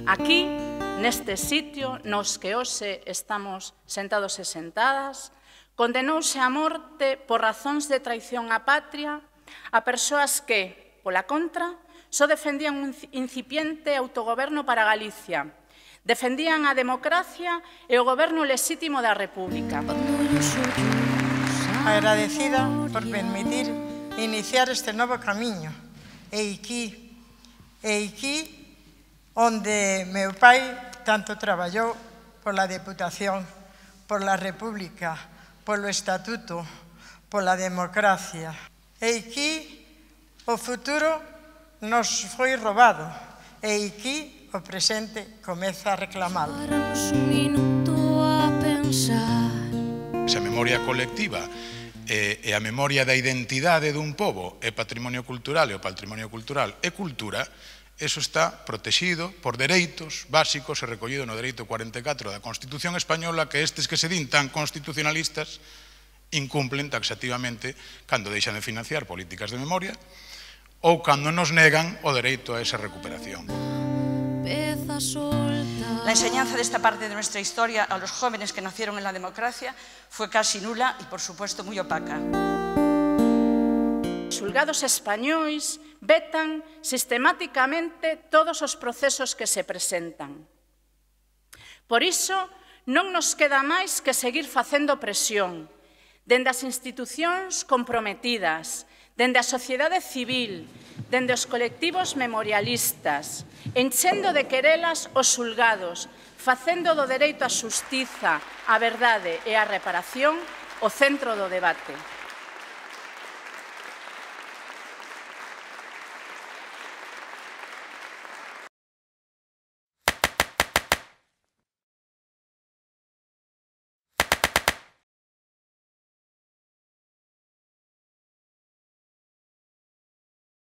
Aquí, neste sitio nos que hoxe estamos sentados e sentadas, condenouse a morte por razóns de traición á patria a persoas que, pola contra, só defendían un incipiente autogoberno para Galicia, defendían a democracia e o goberno lexítimo da República. Agradecida por permitir iniciar este novo camiño. E aquí onde meu pai tanto traballou pola Deputación, pola República, polo Estatuto, pola democracia. E aquí o futuro nos foi robado e aquí o presente comeza a reclamalo. Esa memoria colectiva e a memoria da identidade dun pobo é patrimonio cultural e o patrimonio cultural é cultura, eso está protegido por dereitos básicos e recollido no dereito 44 da Constitución Española que estes que se din tan constitucionalistas incumplen taxativamente cando deixan de financiar políticas de memoria ou cando nos negan o dereito a esa recuperación. La enseñanza de esta parte de nuestra historia a los jóvenes que nacieron en la democracia fue casi nula y, por supuesto, muy opaca. Os xulgados españois vetan sistemáticamente todos os procesos que se presentan. Por iso, non nos queda máis que seguir facendo presión, dende as institucións comprometidas, dende a sociedade civil, dende os colectivos memorialistas, enchendo de querelas os xulgados, facendo do dereito á xustiza, á verdade e á reparación o centro do debate.